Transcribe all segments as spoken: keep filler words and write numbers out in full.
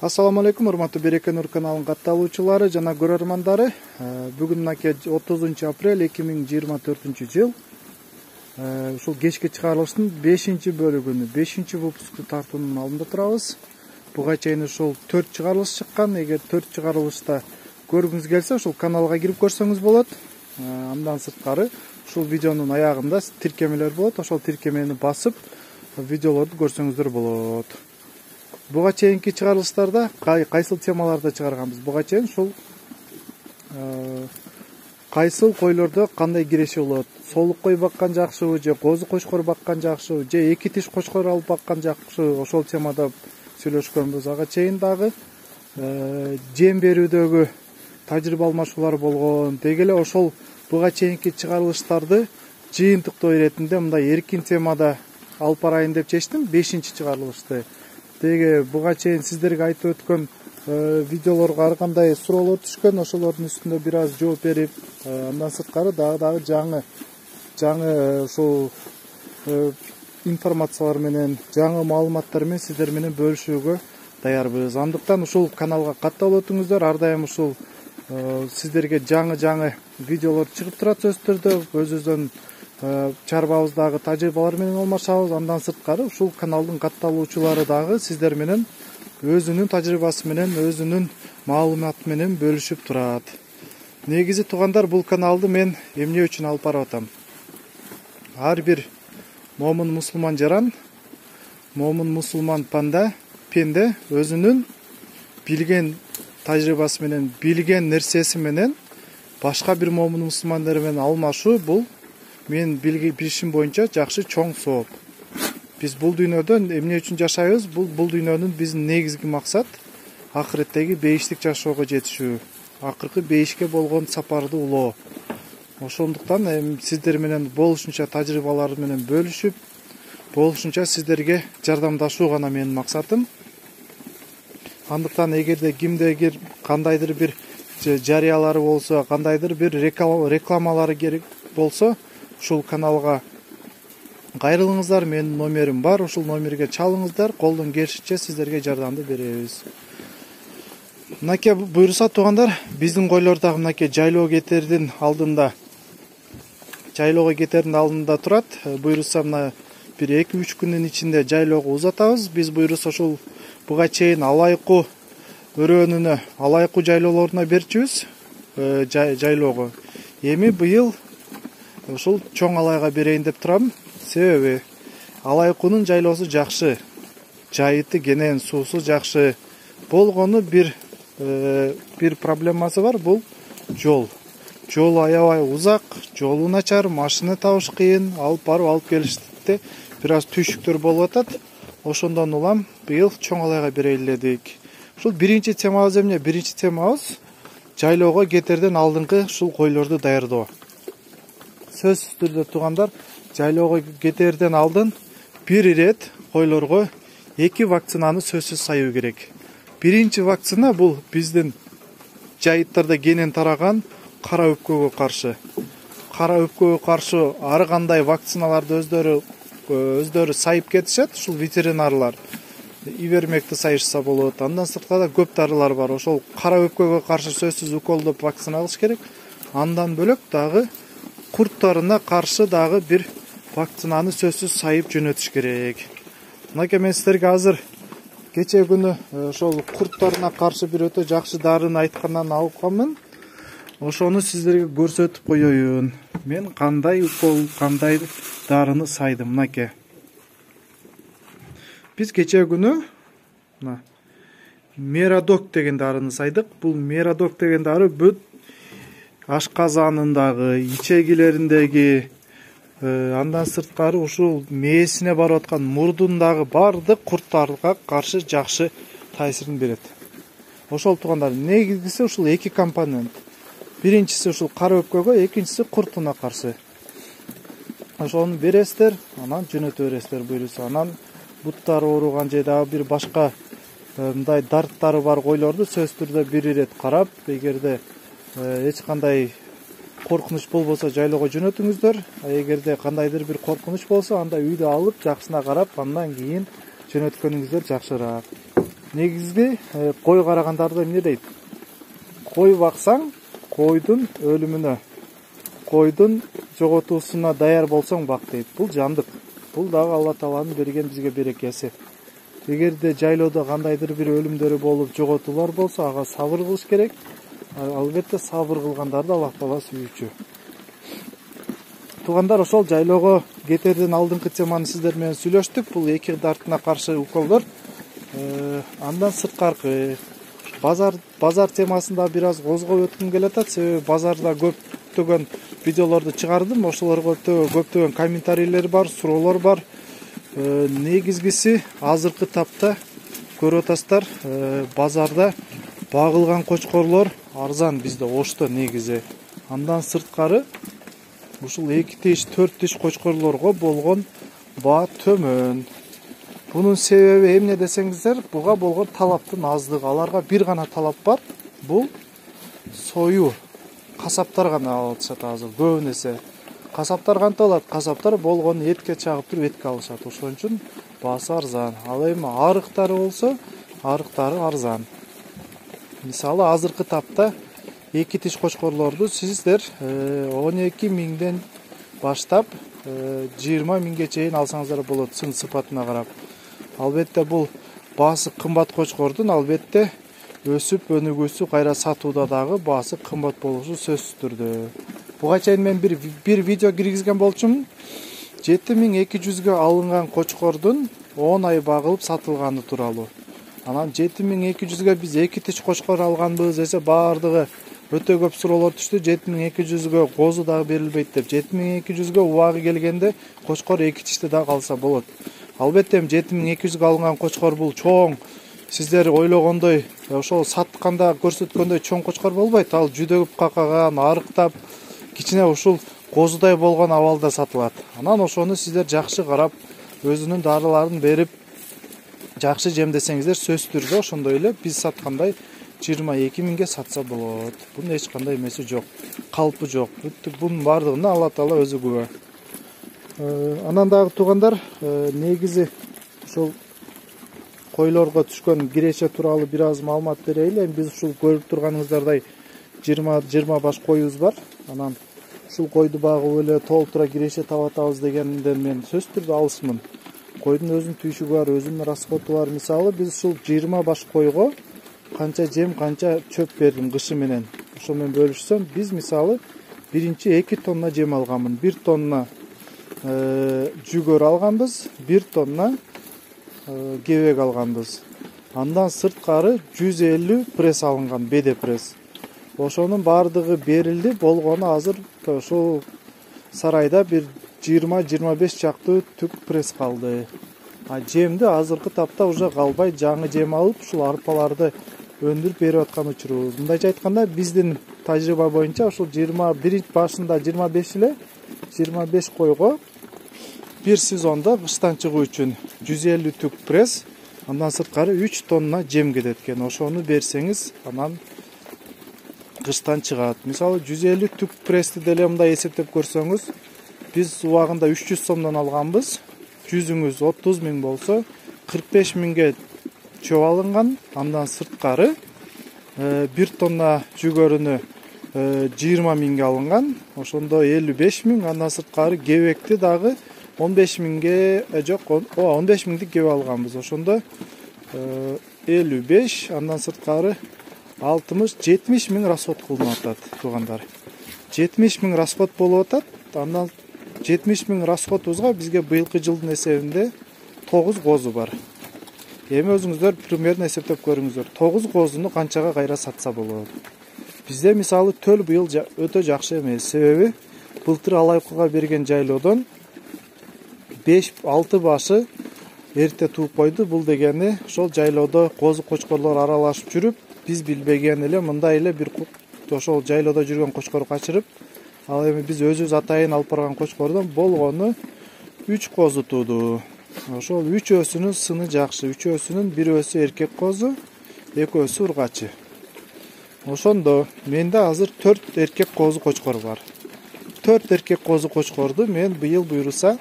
Ассаламу алейкум, урматтуу Береке Нур каналынын катталуучулары жана көрөрмандары. Бүгүн мынакей отузунчу апрель эки миң жыйырма төртүнчү жыл. Ушул кечки чыгарылыштын бешинчи бөлүгүнү, бешинчи выпускту тартуунун алдында турабыз. Буга чейин ушул төрт чыгарылыш чыккан. Эгер төрт чыгарылышта көргүңүз келсе, ушул каналга кирип көрсөңүз болот. Андан сырткары ушул видеонун аягында тиркемелер болот. Ошол тиркемени басып, видеолорду көрсөңүздөр болот. Буга чейинки чыгарылыштарда кайсыл темаларда чыгарганбыз? Буга чейин ушул кайсыл койлордо кандай киреши болот? Солук кой баккан жакшыбы, же козу кочкор баккан жакшыбы, же эки тиш кочкор алып баккан жакшыбы? Ошол темада сүйлөшкөнбүз. Ага чейин дагы жем берүүдөгү тажрыйба алмашуулар болгон. Деги эле ошол буга чейинки чыгарылыштарды жыйынтыктоо иретинде мындай эркин темада алып барайын деп чечтим, бешинчи чыгарылышты. Деги буга чейин сиздерге айтып өткөн видеолорго ар кандай суроолор түшкөн, ошолордун үстүндө бир аз жооп берип, андан сырткары дагы дагы жаңы жаңы ушул информациялар менен, жаңы маалыматтар менен сиздер менен бөлүшүүгө даярбыз. Андыктан ушул каналга катталып өтүңүздөр. Ар дайым ушул сиздерге жаңы жаңы видеолор чыгып турат сөзсүз түрдө. Өзүбүздөн чарбабыздагы тажрыйбалар менен алмашабыз. Андан сырткары ушул каналдын катталуучулары дагы сиздер менен өзүнүн тажрыйбасы менен, өзүнүн маалыматы менен бөлүшүп турат. Негизи туугандар, бул каналды мен эмне үчүн алып барып атам? Ар бир момун мусулман жаран, момун мусулман панда, пенде өзүнүн билген тажрыйбасы менен, билген нерсеси менен башка бир момун мусулмандар менен алмашуу бул мен билишим боюнча жакшы чоң сооп. Биз бул дүйнөдө эмне үчүн жашайбыз? Бул бул дүйнөнүн биздин негизги максат акыреттеги бейиштик жашоого жетишүү, акыркы бейишке болгон сапарды улоо. Ошондуктан эми сиздер менен болушунча тажрыйбалар менен бөлүшүп, болушунча сиздерге жардамдашуу гана менин максатым. Андыктан эгерде кимдегир кандайдыр бир жарыялары болсо, кандайдыр бир рекламалары керек болсо, ушул каналга кайрылыңыздар. Менин номерим бар, ушул номерге чалыңыздар. Колдон келишинче сиздерге жардамды беребиз. Мынакей буйруса туугандар, биздин койлор дагы мынакей жайлоо кетердин алдында, жайлоого кетердин алдында турат. Буйруса мына бир эки үч күндүн ичинде жайлоого узатабыз. Биз буйруса ушул буга чейин алайку өрөөнүнө, алайку жайлоолоруна берчүбүз жайлоого. Эми быйыл ушул чоң алайга берейин деп турам. Себеби алайкунун жайлоосу жакшы, жайыты кенен, суусу жакшы. Болгону бир бир проблемасы бар, бул жол. Жол аябай узак, жолу начар, машина табыш кыйын, алып барып алып келиште бир аз түйшүктөр болуп атат. Ошондон улам быйыл чоң алайга берейин дедик. Ушул биринчи темабыз эмне? Биринчи темабыз жайлоого кетерден алдыңкы ушул койлорду даярдоо. Сөзсүз түрдө туугандар, жайлоого кетерден алдын бир ирет койлорго эки вакцинаны сөзсүз саюу керек. Биринчи вакцина бул биздин жайыттарда кенен тараган кара өпкөгө каршы. Кара өпкөгө каршы ар кандай вакциналарды өздөрү өздөрү сайып кетишет, ушул ветеринарлар. Ивермекти сайышса болот. Андан сырткары көп дарылар бар. Ошол кара өпкөгө каршы сөзсүз уколдоп вакцина алыш керек. Андан бөлөк дагы курттарына каршы дагы бир вакцинаны сөзсүз сайып жөнөтүш керек. Мынакей мен сиздерге азыр кече күнү ошол курттарына каршы бир өтө жакшы дарыны айткандан алып калмын. Ошону сиздерге көрсөтүп коеюн. Мен кандай укол, кандай дарыны сайдым. Мынакей. Биз кече күнү мына Мерадок деген дарыны сайдык. Бул Мерадок деген дары бүт ашказанындагы, ичегилериндеги, андан сырткары ушул мээсине барып аткан мурдундагы бардык курттарга каршы жакшы таасирин берет. Ошол туугандар, негизгиси ушул эки компонент. Биринчиси ушул кара өпкөгө, экинчиси куртуна каршы. Ошону бересиздер, анан жөнөтө бересиздер буйруса. Анан буттары ооруган же дагы бир башка мындай дарттары бар койлорду сөзсүз түрдө бир ирет карап, эгерде эч кандай коркунуч болбосо жайлоого жөнөтүңүздөр. Эгерде кандайдыр бир коркунуч болсо, анда үйдө алып, жакшысына карап, андан кийин жөнөткөнүңүздөр жакшыраак. негизги кой карагандарды эмне дейт? Кой баксаң, койдун өлүмүнө, койдун жоготуусуна даяр болсоң бак дейт. Бул жандык. Бул дагы Алла Тааланын берген бизге берекеси. Эгерде жайлоодо кандайдыр бир өлүмдөр болуп, жоготуулар болсо, ага сабыр кылыш керек. Албетте сабыр кылгандарды Алла Таала сүйүүчү. Туугандар, ошол жайлоого кетерден алдыңкы теманы сиздер менен сүйлөштүк. Бул эки дартына каршы уколдор. Андан сырткаркы базар базар темасында бир аз козгоп өткүм келатат. Себеби базарда көптөгөн видеолорду чыгардым. Ошолорго көптөгөн комментарийлер бар, суроолор бар. Негизгиси азыркы тапта көрүп атасыздар, базарда багылган кочкорлор арзан бизде Ошто негизи. Андан сырткары ушул эки тиш, төрт тиш кочкорлорго болгон баа төмөн. Бунун себеби эмне десеңиздер, буга болгон талаптын аздыгы. Аларга бир гана талап бар. Бул сою. Касаптар гана алышат азыр көбүнесе. Касаптар кантип алат? Касаптар болгон этке чагып туруп этке алышат. Ошон үчүн баасы арзан. Ал эми арыктары болсо, арыктары арзан. Мисалы азыркы тапта эки тиш кочкорлорду сиздер он эки миңден баштап жыйырма миңге чейин алсаңыздар болот, сын сыпатына карап. Албетте бул баасы кымбат кочкордун албетте өсүп өнүгүүсү, кайра сатууда дагы баасы кымбат болушу сөзсүз түрдө. Буга чейин мен бир бир видео киргизген болчумун. жети миң эки жүзгө алынган кочкордун он ай багылып сатылганы тууралуу. Анан жети миң эки жүзгө биз эки тиш кочкор алганбыз десе, баардыгы өтө көп суроолор түштү. жети миң эки жүзгө козу дагы берилбейт деп. жети миң эки жүзгө убагы келгенде кочкор эки тишти дагы алса болот. Албетте жети миң эки жүзгө алынган кочкор бул чоң, сиздер ойлогондой, ошол сатканда көрсөткөндөй чоң кочкор болбойт. Ал жүдөгүп какаган, арыктап, кичине ушул козудай болгон абалда сатылат. Анан ошону сиздер жакшы карап, өзүнүн дарыларын берип, жакшы жемдесеңиздер сөзсүз түрдө ошондой эле биз саткандай жыйырма эки миңге сатса болот. Бунун эч кандай эмеси жок, калпы жок. Бунун баардыгына Алла Таала өзү күбө. Анан дагы туугандар, негизи ушул койлорго түшкөн киреше тууралуу бир аз маалымат берейли. Биз ушул көрүп турганыңыздардай жыйырма баш коюбуз бар. Анан ушул койду багып эле толтура киреше таап атабыз дегенден мен сөзсүз түрдө алысмын. Койдун өзүнүн түйшүгү бар, өзүнүн расходу бар. Мисалы биз ушул жыйырма баш койго канча жем, канча чөп бердим кышы менен. Ошо менен бөлүшсөм, биз мисалы биринчи эки тонна жем алганмын. бир тонна жүгөр алганбыз, бир тонна кебек алганбыз. Андан сырткары жүз элүү пресс алынган, беде пресс. Ошонун баардыгы берилди, болгону азыр ошол сарайда бир жыйырма жыйырма беш чактуу түк пресс калды. А жемди азыркы тапта уже калбай, жаңы жем алып, ушул арпаларды өндүрүп берип аткан учурубуз. Мындайча айтканда, биздин тажрыйба боюнча ушул жыйырма бир башында жыйырма беш эле жыйырма беш койго бир сезондо кыштан чыгуу үчүн жүз элүү түк пресс, андан сырткары үч тонна жем кетет экен. Ошону берсеңиз, анан кыштан чыгат. Мисалы жүз элүү түк прессти деле мындай эсептеп көрсөңүз, биз убагында үч жүз сомдон алганбыз. Жүзүңүз отуз миң болсо, кырк беш миңге чөп алынган. Андан сырткары бир тонна жүгөрүнү жыйырма миңге алынган. Ошондо элүү беш миң, андан сырткары кебекти дагы он беш миңге, жок, он беш миңдик кебек алганбыз. Ошондо элүү беш, андан сырткары алтымыш жетимиш миң расход кылынып атат, туугандар. жетимиш миң расход болуп атат. Андан жетимиш миң расходубузга бизге быйылкы жылдын эсебинде тогуз козу бар. Эми өзүңүздөр примерно эсептеп көрүңүздөр. тогуз козуну канчага кайра сатса болот? Бизде мисалы төл быйыл өтө жакшы эмес. Себеби былтыр алайкыга берген жайлоодон беш алты башы эрте тууп койду. Бул дегени ошол жайлоодо козу кочкорлор аралашып жүрүп, биз билбеген эле мындай эле бир ошол жайлоодо жүргөн кочкор качырып, ал эми биз өзүбүз атайын алып барган кочкордон болгону үч козу тууду. Ошол үчөөсүнүн сыны жакшы. Үчөөсүнүн бирөөсү эркек козу, экөөсү ургачы. Ошондо менде азыр төрт эркек козу кочкор бар. төрт эркек козу кочкорду мен быйыл буйруса,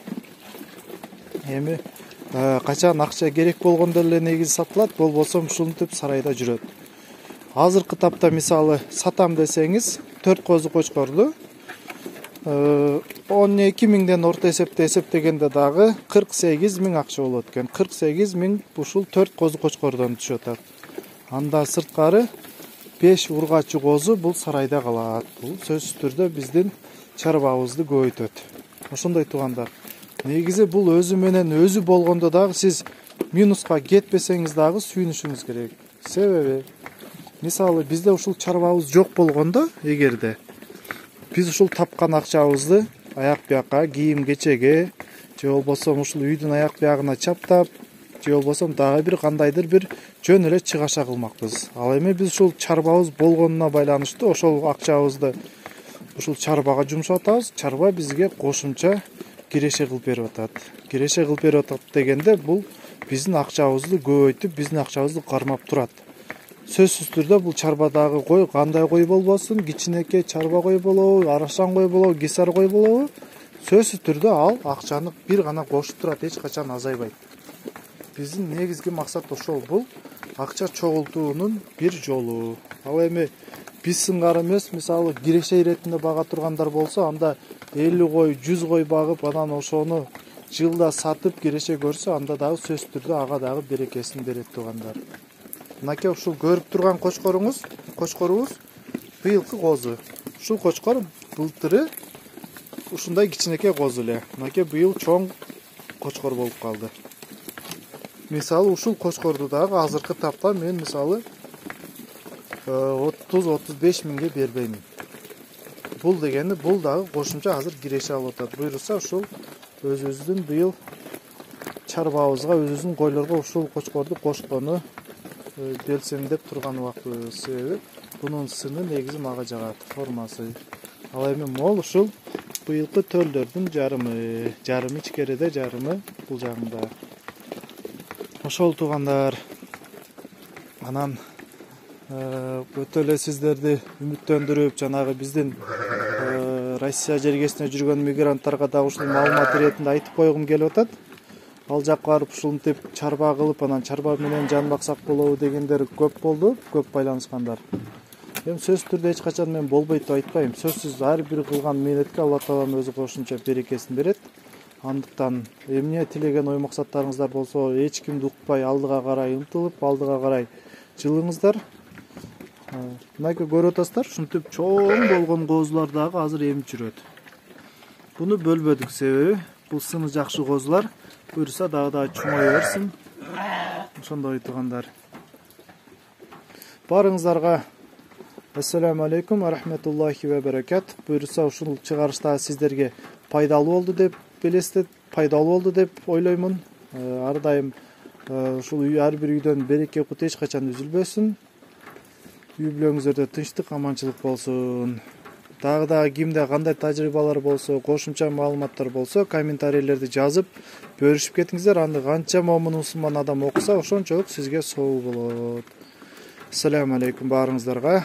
эми качан акча керек болгондо эле негизи сатылат, болбосо ушинтип сарайда жүрөт. Азыркы тапта мисалы сатам десеңиз төрт козу кочкорду он эки миңден орто эсепте эсептегенде дагы кырк сегиз миң акча болот экен. кырк сегиз миң ушул төрт козу кочкордон түшүп атат. Анда сырткары беш ургачы козу бул сарайда калат. Бул сөзсүз түрдө биздин чарбабызды көбөйтөт. Ошондой туугандар. Негизи бул өзү менен өзү болгондо дагы сиз минуска кетпесеңиз дагы сүйүнүшүңүз керек. Себеби мисалы бизде ушул чарбабыз жок болгондо, эгерде биз ушул тапкан акчабызды аяк бияка кийим кечеге же болбосо ушул үйдүн аяк биягына чаптап же болбосо дагы бир кандайдыр бир жөн эле чыгаша кылмакпыз. Ал эми биз ушул чарбабыз болгонуна байланыштуу ошол акчабызды ушул чарбага жумшап атабыз. Чарба бизге кошумча киреше кылып берип атат. Киреше кылып берип атат дегенде бул биздин акчабызды көбөйтүп, биздин акчабызды кармап турат. Сөзсүз түрдө бул чарбадагы кой кандай кой болбосун, кичинекей чарба кой болобу, арашан кой болобу, кесар кой болобу, сөзсүз түрдө ал акчаны бир гана кошуп турат, эч качан азайбайт. Биздин негизги максат ошол, бул акча чогултуунун бир жолу. Ал эми биз сыңгар эмес, мисалы киреше иретинде бага тургандар болсо, анда элүү кой, жүз кой багып, анан ошону жылда сатып киреше көрсө, анда дагы сөзсүз түрдө ага дагы берекесин берет туугандар. Мынакей ушул көрүп турган кочкоруңуз, кочкорубуз быйылкы козу. Ушул кочкор былтыры ушундай кичинекей козу эле. Мынакей быйыл чоң кочкор болуп калды. Мисалы ушул кочкорду дагы азыркы тапта мен мисалы отуз отуз беш миңге бербеймин. Бул дегени бул дагы кошумча азыр киреше алып атат. Буйруса ушул өзүбүздүн быйыл чарбабызга, өзүбүздүн койлорго ушул кочкорду кошкону белсендеп турган убактыбыз. Себеби бунун сыны негизи мага жагат, формасы. Ал эми мол ушул быйылкы төлдөрдүн жарымы, жарымы ичкериде, жарымы бул жагында. Ошол туугандар. Анан өтө эле сиздерди үмүттөндүрүп, жанагы биздин Россия жергесинде жүргөн мигранттарга да ушул маалымат иретинде айтып койгум келип атат. Ал жакка барып ушинтип чарба кылып, анан чарба менен жан баксак болобу дегендер көп болду, көп байланышкандар. Эми сөзсүз түрдө эч качан мен болбойт деп айтпайм. Сөзсүз ар бир кылган мээнетке Алла Таалам өзү кошумча берекесин берет. Андыктан эмне тилеген ой максаттарыңыздар болсо, эч кимди укпай алдыга карай умтулуп, алдыга карай жылыңыздар. Мынакей көрүп атасыздар, ушинтип чоң болгон козулар дагы азыр эмип жүрөт. Буну бөлбөдүк, себеби бул сыны жакшы козулар. Буйруса дагы да чоңое берсин. Ошондой туугандар. Барыңыздарга ассаламу алейкум ва рахматуллахи ва баракат. Буйруса ушул чыгарышта сиздерге пайдалуу болду деп билесиз, пайдалуу болду деп ойлоймун. Ар дайым ушул ар бир үйдөн береке кут эч качан үзүлбөсүн. Үй бүлөңүздөрдө тынчтык, аманчылык болсун. Дагы да кимде кандай тажрыйбалар болсо, кошумча маалыматтар болсо, комментарийлерди жазып бөлүшүп кетиңиздер. Аны канча момун мусулман адам окуса, ошончолук сизге собу болот. Ассаламу алейкум барыңыздарга.